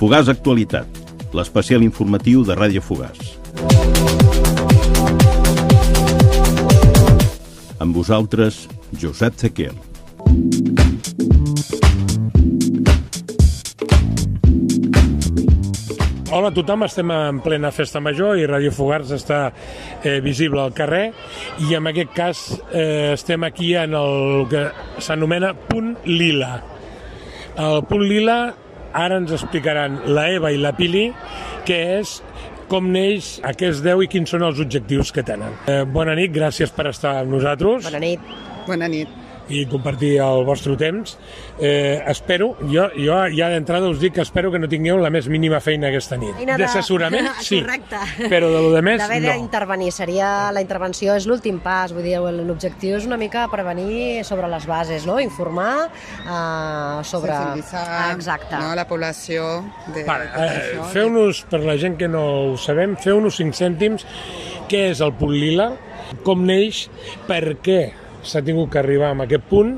Fogars Actualitat, l'especial informatiu de Ràdio Fogars. Amb vosaltres, Josep Zequer. Hola a tothom, estem en plena festa major i Ràdio Fogars està visible al carrer i en aquest cas estem aquí en el que s'anomena Punt Lila. El Punt Lila ara ens explicaran la Eva i la Pili què és, com neix, a què es deu i quins són els objectius que tenen. Bona nit, gràcies per estar amb nosaltres. Bona nit. Bona nit. I compartir el vostre temps. Espero, jo ja d'entrada us dic que espero que no tingueu la més mínima feina aquesta nit. D'assessorament, sí, però de lo de més, no. D'haver d'intervenir, la intervenció és l'últim pas, vull dir, l'objectiu és una mica prevenir sobre les bases, no? Informar sobre... Sensibilitzar, exacte. No, la població de... Feu-nos, per la gent que no ho sabem, feu-nos 5 cèntims, què és el Punt Lila, com neix, per què s'ha tingut que arribar a aquest punt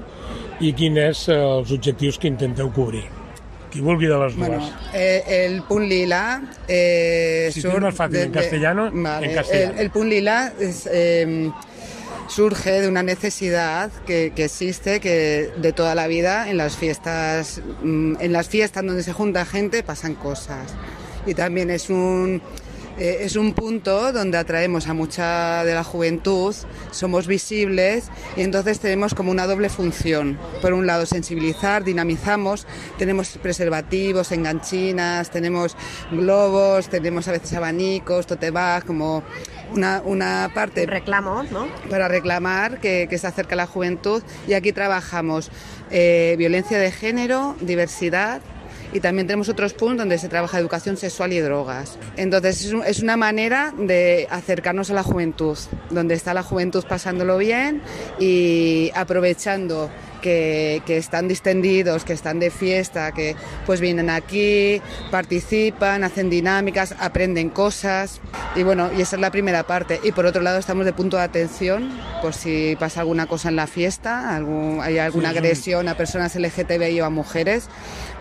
i quins són els objectius que intenteu cobrir. Qui vulgui de les dues. Bueno, el Punt Lila... si es más fácil en castellano, vale. En castellano. El Punt Lila surge de una necesidad que existe que de toda la vida en las fiestas donde se junta gente pasan cosas. Y también es un punto donde atraemos a mucha de la juventud, somos visibles y entonces tenemos como una doble función. Por un lado sensibilizar, dinamizamos, tenemos preservativos, enganchinas, tenemos globos, tenemos a veces abanicos, tote bag, como una parte... Un reclamo, ¿no? Para reclamar que se acerca a la juventud y aquí trabajamos violencia de género, diversidad. Y también tenemos otros puntos donde se trabaja educación sexual y drogas. Entonces es una manera de acercarnos a la juventud, donde está la juventud pasándolo bien y aprovechando que están distendidos, que están de fiesta, que pues vienen aquí, participan, hacen dinámicas, aprenden cosas y bueno, y esa es la primera parte. Y por otro lado estamos de punto de atención por si pasa alguna cosa en la fiesta, hay alguna agresión a personas LGTBI o a mujeres,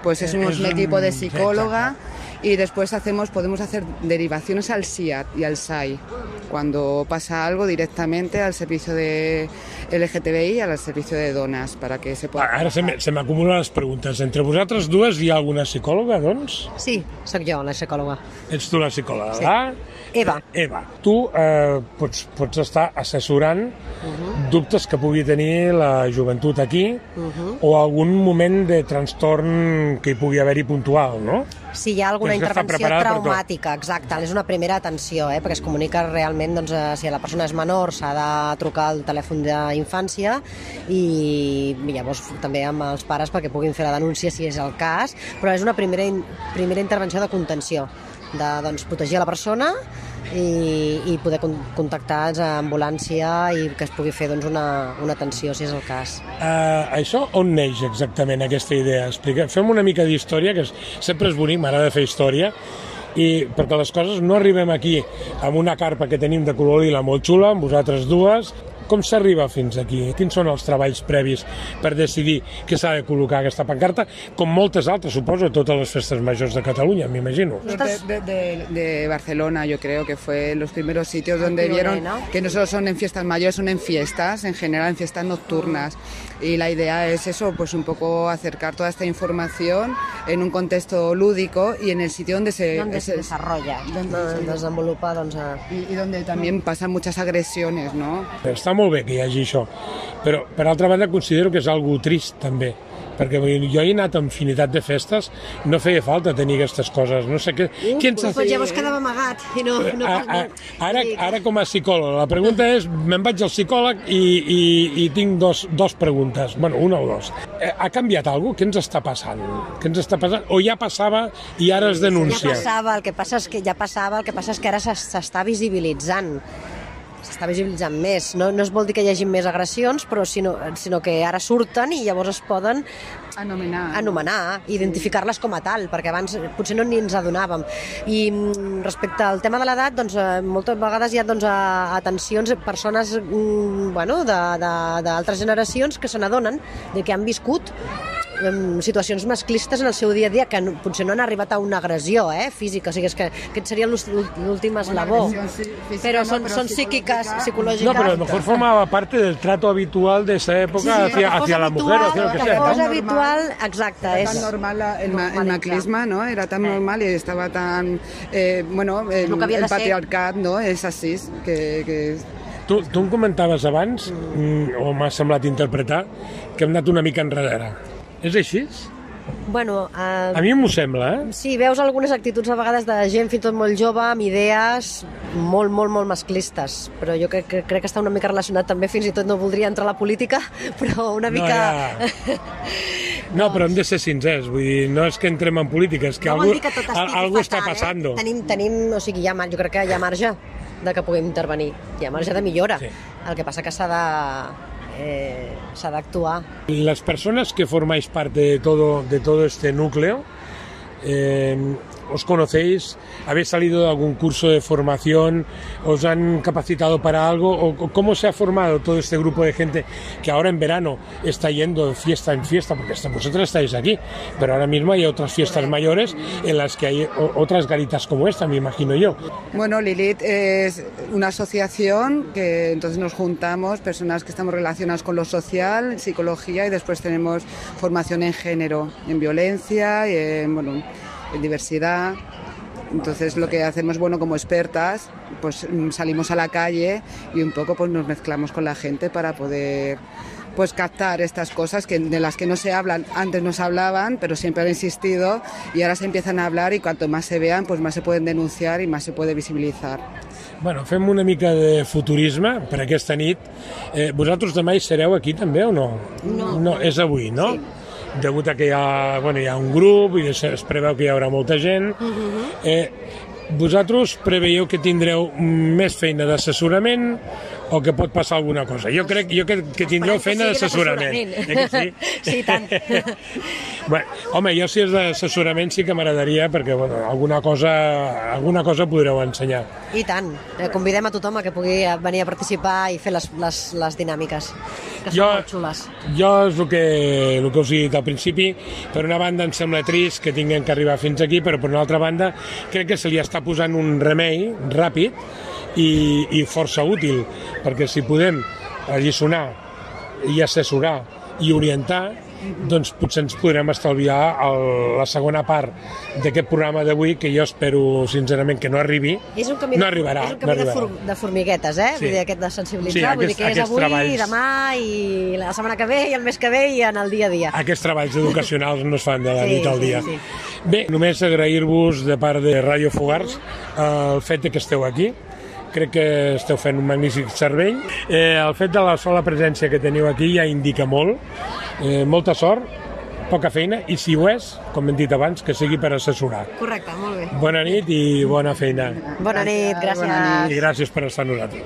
pues es un equipo de psicóloga y después podemos hacer derivaciones al SIAD y al SAI cuando pasa algo directamente al servicio de LGTBI i al servicio de dones para que se pueda... Ara se m'acumulen les preguntes. Entre vosaltres dues hi ha alguna psicòloga, doncs? Sí, sóc jo, la psicòloga. Ets tu la psicòloga, sí. Eva. Eva, tu pots estar assessorant dubtes que pugui tenir la joventut aquí o algun moment de trastorn que hi pugui haver-hi puntual, no? Si hi ha alguna intervenció traumàtica, exacte, és una primera atenció, perquè es comunica realment, doncs, si la persona és menor s'ha de trucar al telèfon d'infància i llavors també amb els pares perquè puguin fer la denúncia si és el cas, però és una primera intervenció de contenció, de protegir la persona i poder contactar a ambulància i que es pugui fer una atenció si és el cas. Això on neix exactament aquesta idea? Fem una mica d'història, que sempre és bonic, m'agrada fer història, i perquè les coses no arribem aquí amb una carpa que tenim de color lila molt xula, amb vosaltres dues. Com s'arriba fins aquí? Quins són els treballs previs per decidir que s'ha de col·locar aquesta pancarta? Com moltes altres, suposo, totes les festes majors de Catalunya, m'imagino. De Barcelona, yo creo que fue los primeros sitios donde vieron que no solo son en fiestas mayores, son en fiestas, en general en fiestas nocturnas. Y la idea es eso, pues un poco acercar toda esta información en un contexto lúdico y en el sitio donde se desarrolla, donde desenvolupa, y donde también pasan muchas agresiones, ¿no? Està molt bé que hi hagi això, però per altra banda considero que és algo trist també, perquè jo he anat a infinitat de festes, no feia falta tenir aquestes coses, no sé què... Pues llavors quedava amagat. Ara com a psicòleg, la pregunta és, me'n vaig al psicòleg i tinc dos preguntes, bueno, una o dos. Ha canviat alguna cosa? Què ens està passant? O ja passava i ara es denuncia? Ja passava, el que passa és que ara s'està visibilitzant. S'està visibilitzant més. No es vol dir que hi hagi més agressions, però sinó que ara surten i llavors es poden anomenar, identificar-les com a tal, perquè abans potser no ni ens adonàvem. I respecte al tema de l'edat, doncs, moltes vegades hi ha atencions, persones d'altres generacions que se n'adonen que han viscut situacions masclistes en el seu dia a dia que potser no han arribat a una agressió física, o sigui, és que aquest seria l'últim eslabó, però son psíquicas, psicològiques. No, pero a lo mejor formaba parte del trato habitual de esa época hacia la mujer, hacia lo que sea. Que fos habitual, exacte. Era tan normal el maclisme, ¿no? Era tan normal y estaba tan... bueno, el patriarcat, ¿no? És així, que... Tu em comentaves abans, o m'ha semblat interpretar, que hem anat una mica enrere. És així? Bueno, a mi m'ho sembla, Sí, veus algunes actituds a vegades de gent fins i tot molt jove, amb idees molt, molt, molt masclistes, però jo crec que està una mica relacionat també, fins i tot no voldria entrar a la política, però una mica... No, però hem de ser sincers, vull dir, no és que entrem en política, és que algú està passant. Tenim, o sigui, jo crec que hi ha marge de que puguem intervenir, hi ha marge de millora, el que passa que s'ha d'actuar. Las personas que formáis parte de todo este núcleo, ¿os conocéis? ¿Habéis salido de algún curso de formación? ¿Os han capacitado para algo? ¿O cómo se ha formado todo este grupo de gente que ahora en verano está yendo de fiesta en fiesta? Porque vosotros estáis aquí, pero ahora mismo hay otras fiestas mayores en las que hay otras garitas como esta, me imagino yo. Bueno, Lilith es una asociación que entonces nos juntamos, personas que estamos relacionadas con lo social, psicología, y después tenemos formación en género, en violencia y en diversidad. Entonces lo que hacemos, como expertas, pues salimos a la calle y un poco pues nos mezclamos con la gente para poder pues captar estas cosas de las que no se hablan. Antes no se hablaban, pero siempre han existido y ahora se empiezan a hablar, y cuanto más se vean, pues más se pueden denunciar y más se puede visibilitzar. Bueno, fem una mica de futurisme per aquesta nit. Vosaltres demà hi sereu aquí també o no? No, és avui, no? Sí. Degut a que hi ha un grup i es preveu que hi haurà molta gent. Vosaltres preveieu que tindreu més feina d'assessorament o que pot passar alguna cosa? Jo crec que tindreu feina d'assessorament. Sí, tant. Home, jo si és d'assessorament sí que m'agradaria, perquè alguna cosa podreu ensenyar. I tant. Convidem a tothom a que pugui venir a participar i fer les dinàmiques, que són molt xules. Jo és el que us he dit al principi. Per una banda em sembla trist que tinguem que arribar fins aquí, però per una altra banda crec que se li està posant un remei ràpid i força útil, perquè si podem alliçonar i assessorar i orientar, doncs potser ens podrem estalviar la segona part d'aquest programa d'avui, que jo espero sincerament que no arribi. No arribarà. És un camí de formiguetes, vull dir, aquest de sensibilitzar, vull dir que és avui, demà i la setmana que ve i el mes que ve i en el dia a dia. Aquests treballs educacionals no es fan de la nit al dia. Bé, només agrair-vos de part de Ràdio Fogars el fet que esteu aquí. Crec que esteu fent un magnífic servei. El fet de la sola presència que teniu aquí ja indica molt. Molta sort, poca feina, i si ho és, com hem dit abans, que sigui per assessorar. Correcte, molt bé. Bona nit i bona feina. Bona nit, gràcies. I gràcies per estar amb nosaltres.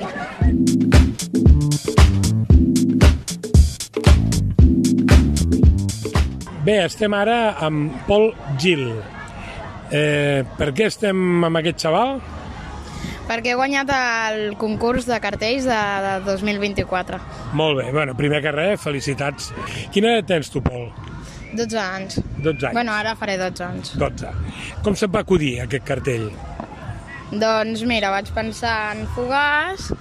Bé, estem ara amb Pol Gil. Per què estem amb aquest xaval? Perquè he guanyat el concurs de cartells de 2024. Molt bé, primer que res, felicitats. Quina edat tens tu, Pol? 12 anys. 12 anys. Bueno, ara faré 12 anys. 12. Com se't va acudir aquest cartell? Doncs mira, vaig pensar en Fogars,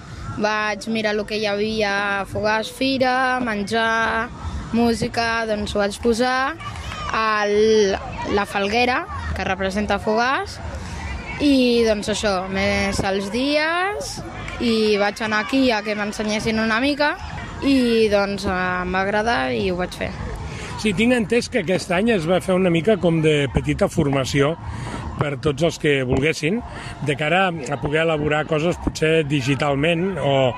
vaig mirar el que hi havia a Fogars, fira, menjar, música, doncs ho vaig posar a la falguera, que representa Fogars, i doncs això, més els dies, i vaig anar aquí a que m'ensenyessin una mica i doncs em va agradar i ho vaig fer. Sí, tinc entès que aquest any es va fer una mica com de petita formació per tots els que volguessin, de cara a poder elaborar coses potser digitalment o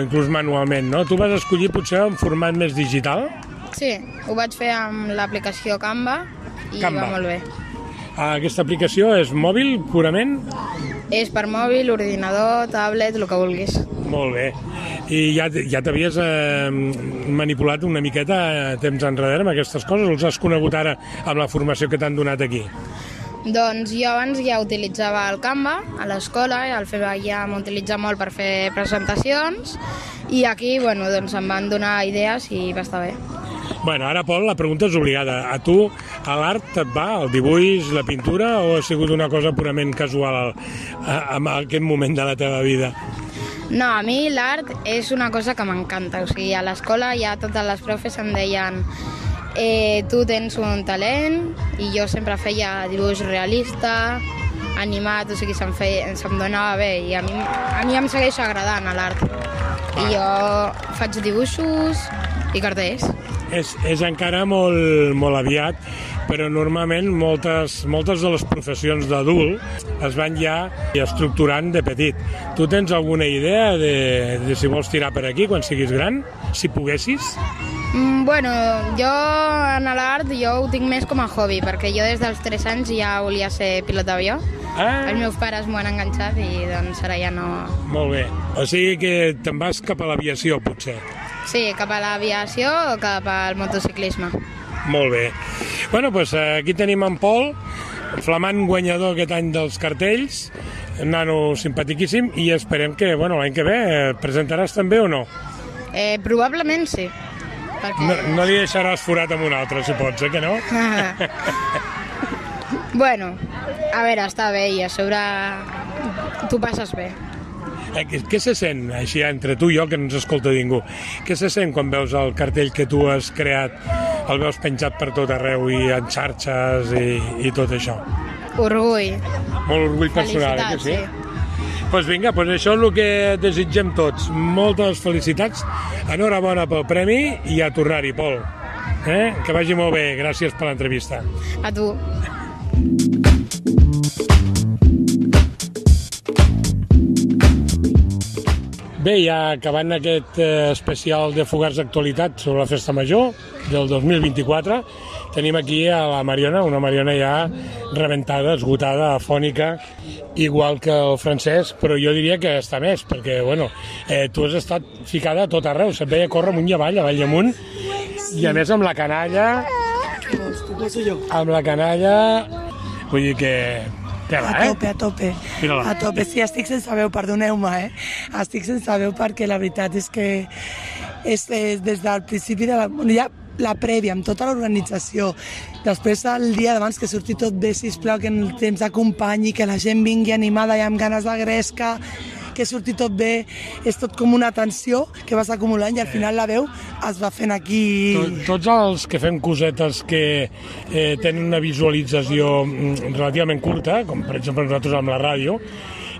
inclús manualment, no? Tu vas escollir potser un format més digital? Sí, ho vaig fer amb l'aplicació Canva i va molt bé. Aquesta aplicació és mòbil, purament? És per mòbil, ordinador, tablet, el que vulguis. Molt bé. I ja t'havies manipulat una miqueta temps enrere amb aquestes coses, o els has conegut ara amb la formació que t'han donat aquí? Doncs jo abans ja utilitzava el Canva a l'escola, ja m'utilitzava molt per fer presentacions, i aquí doncs em van donar idees i va estar bé. Bueno, ara, Pol, la pregunta és obligada. A tu, a l'art et va, el dibuix, la pintura, o ha sigut una cosa purament casual en aquest moment de la teva vida? No, a mi l'art és una cosa que m'encanta. O sigui, a l'escola ja totes les profes em deien tu tens un talent, i jo sempre feia dibuix realista, animat, o sigui, se'm donava bé, i a mi em segueix agradant l'art. I jo faig dibuixos i cartells. És encara molt aviat, però normalment moltes de les professions d'adult es van ja estructurant de petit. Tu tens alguna idea de si vols tirar per aquí quan siguis gran, si poguessis? Bueno, jo en l'art ho tinc més com a hobby, perquè jo des dels 3 anys ja volia ser pilot d'avió. Els meus pares m'ho han enganxat i doncs ara ja no... Molt bé. O sigui que te'n vas cap a l'aviació, potser. Sí, cap a l'aviació o cap al motociclisme. Molt bé. Bueno, doncs aquí tenim en Pol, flamant guanyador aquest any dels cartells, nano simpatiquíssim, i esperem que l'any que ve presentaràs també o no? Probablement sí. No li deixaràs forat amb un altre, si pots, que no? Bueno, a veure, està bé, i a sobre tu passes bé. Què se sent, així, entre tu i jo, que no ens escolta ningú? Què se sent quan veus el cartell que tu has creat, el veus penjat per tot arreu i en xarxes i tot això? Orgull. Molt orgull personal, que sí? Doncs vinga, això és el que desitgem tots. Moltes felicitats, enhorabona pel premi i a tornar-hi, Pol. Que vagi molt bé, gràcies per l'entrevista. A tu. Bé, ja acabant aquest especial de Fogars d'actualitat sobre la Festa Major del 2024, tenim aquí a la Mariona, una Mariona ja rebentada, esgotada, afònica, igual que el Francesc, però jo diria que està més, perquè, tu has estat ficada a tot arreu, se't veia córrer amunt i avall i amunt, i a més amb la canalla, vull dir que... A tope, sí, estic sense veu, perdoneu-me, estic sense veu perquè la veritat és que des del principi de la prèvia, amb tota l'organització, després el dia d'abans que surti tot bé, sisplau, que el temps acompanyi, que la gent vingui animada i amb ganes de gresca, que surti tot bé, és tot com una tensió que vas acumulant i al final la veu es va fent aquí... Tots els que fem cosetes que tenen una visualització relativament curta, com per exemple nosaltres amb la ràdio,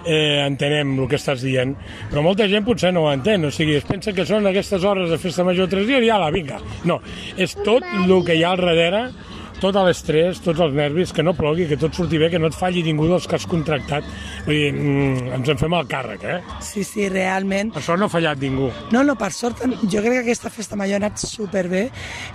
entenem el que estàs dient, però molta gent potser no ho entén, o sigui, es pensa que són aquestes hores de Festa Major 3 dies i ala, vinga. No, és tot el que hi ha al darrere, tot l'estrès, tots els nervis, que no plogui, que tot surti bé, que no et falli ningú dels que has contractat. Vull dir, ens en fem el càrrec, Sí, realment. Per sort no ha fallat ningú. No, per sort, jo crec que aquesta Festa Major ha anat superbé,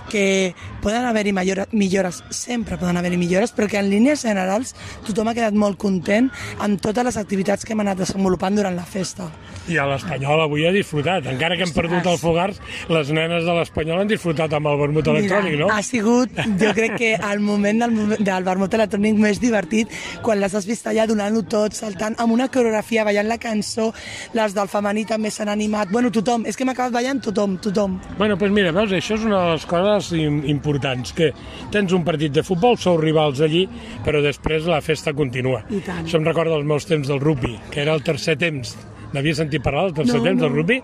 que poden haver-hi millores, sempre poden haver-hi millores, però que en línies generals tothom ha quedat molt content amb totes les activitats que hem anat desenvolupant durant la festa. I a l'Espanyol avui ha disfrutat. Encara que hem perdut el Fogars, les nenes de l'Espanyol han disfrutat amb el vermut electrònic, no? Ha sigut, jo crec que el moment del vermut electrònic més divertit, quan les has vist allà donant-ho tot, saltant amb una coreografia, ballant la cançó, les del femení també s'han animat, tothom, és que hem acabat ballant tothom. Doncs mira, veus, això és una de les coses importants, que tens un partit de futbol, sou rivals allí, però després la festa continua. Això em recorda els meus temps del rugby, que era el tercer temps. N'havia sentit parlar del tercer temps del rugby?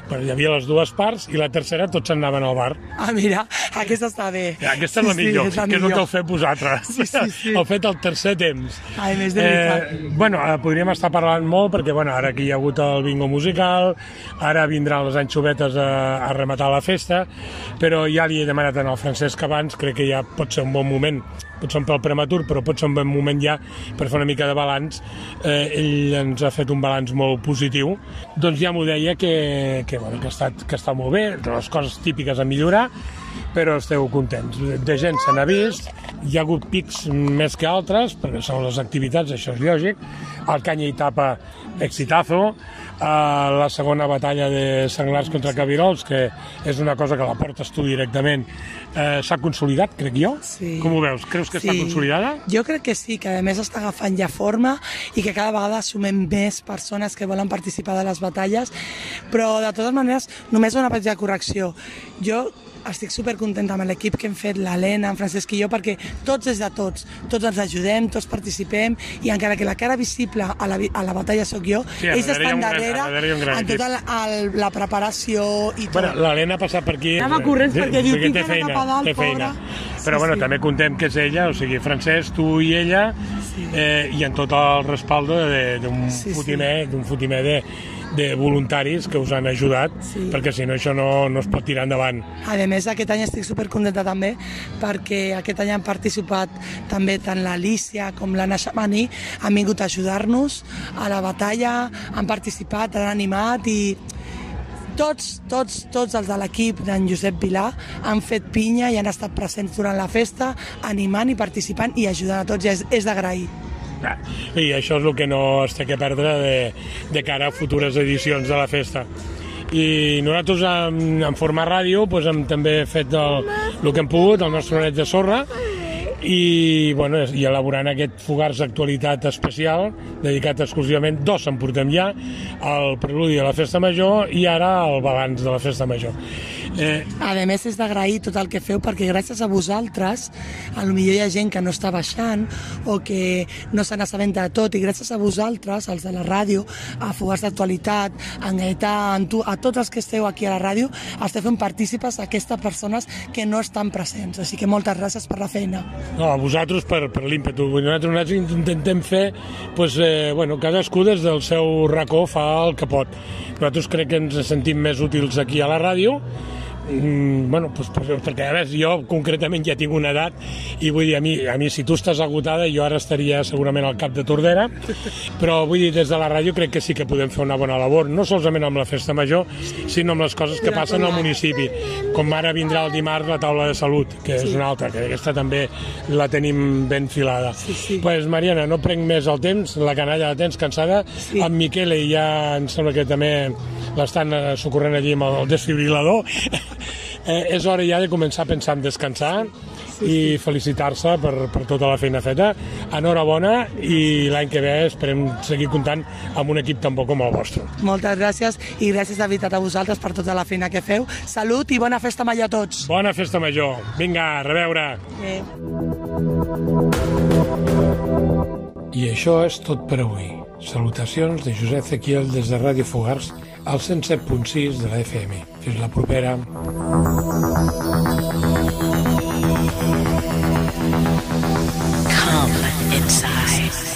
Però hi havia les dues parts i la tercera tots anaven al bar. Mira, aquesta està bé. Aquesta és la millor, que és el que heu fet vosaltres. Sí. Heu fet el tercer temps. Més de veritat. Podríem estar parlant molt, perquè ara aquí hi ha hagut el bingo musical, ara vindran les anxovetes a rematar la festa, però ja li he demanat al Francesc abans, crec que ja pot ser un bon moment, potser un pèl prematur, però pot ser un bon moment ja per fer una mica de balanç. Ell ens ha fet un balanç molt positiu. Doncs ja m'ho deia que està molt bé, les coses típiques a millorar, però esteu contents. De gent se n'ha vist, hi ha hagut pics més que altres, perquè són les activitats, això és lògic. El canya i tapa, exitazo. La segona batalla de senglars contra cabirols, que és una cosa que la portes tu directament, s'ha consolidat, crec jo? Sí. Com ho veus? Creus que està consolidada? Jo crec que sí, que a més està agafant ja forma i que cada vegada sumem més persones que volen participar de les batalles, però de totes maneres només una petita correcció. Jo estic supercontenta amb l'equip que hem fet, l'Helena, en Francesc i jo, perquè tots és de tots ens ajudem, tots participem, i encara que la cara visible a la batalla sóc jo, ells estan darrere en tota la preparació i tot. Bueno, l'Helena ha passat per aquí. Anava corrents perquè diu, tinc cara cap a dalt, pobra. Però bueno, també contem que és ella, o sigui, Francesc, tu i ella, i en tot el respaldo d'un fotimer de voluntaris que us han ajudat, perquè si no això no es pot tirar endavant. A més, aquest any estic supercontenta també, perquè aquest any han participat també tant l'Alicia com l'Anna Xamani, han vingut a ajudar-nos a la batalla, han participat, han animat i tots els de l'equip d'en Josep Vilà han fet pinya i han estat presents durant la festa, animant i participant i ajudant a tots, i és d'agrair. I això és el que no es té que perdre de cara a futures edicions de la festa. I nosaltres en format ràdio hem també fet el que hem pogut, el nostre granet de sorra, i elaborant aquest Fogars Actualitat especial dedicat exclusivament, 2 en portem ja, el preludi de la Festa Major i ara el balanç de la Festa Major. A més, és d'agrair tot el que feu, perquè gràcies a vosaltres potser hi ha gent que no està baixant o que no se n'assabenta de tot, i gràcies a vosaltres, els de la ràdio, a Fogars d'Actualitat, en Gaetà, a tots els que esteu aquí a la ràdio, esteu fent partícipes a aquestes persones que no estan presents, així que moltes gràcies per la feina. No, a vosaltres per l'ímpetu. Nosaltres intentem fer, cadascú des del seu racó fa el que pot. Nosaltres crec que ens sentim més útils aquí a la ràdio, perquè a més jo concretament ja tinc una edat i vull dir, a mi si tu estàs agotada jo ara estaria segurament al cap de Tordera, però vull dir, des de la ràdio crec que sí que podem fer una bona labor, no solament amb la Festa Major, sinó amb les coses que passen al municipi, com ara vindrà el dimarts la taula de salut, que és una altra, que aquesta també la tenim ben filada. Pues Mariana, no prenc més el temps, la canalla la tens cansada, amb Miquele ja em sembla que també l'estan socorrent allí amb el desfibrilador. És hora ja de començar a pensar en descansar i felicitar-se per tota la feina feta. Enhorabona, i l'any que ve esperem seguir comptant amb un equip tan bo com el vostre. Moltes gràcies, i gràcies de veritat a vosaltres per tota la feina que feu. Salut i bona Festa Major a tots. Bona Festa Major. Vinga, a reveure. I això és tot per avui. Salutacions de Josep Ezequiel des de Ràdio Fogars al 107.6 de la FM. Fins la propera. Come inside.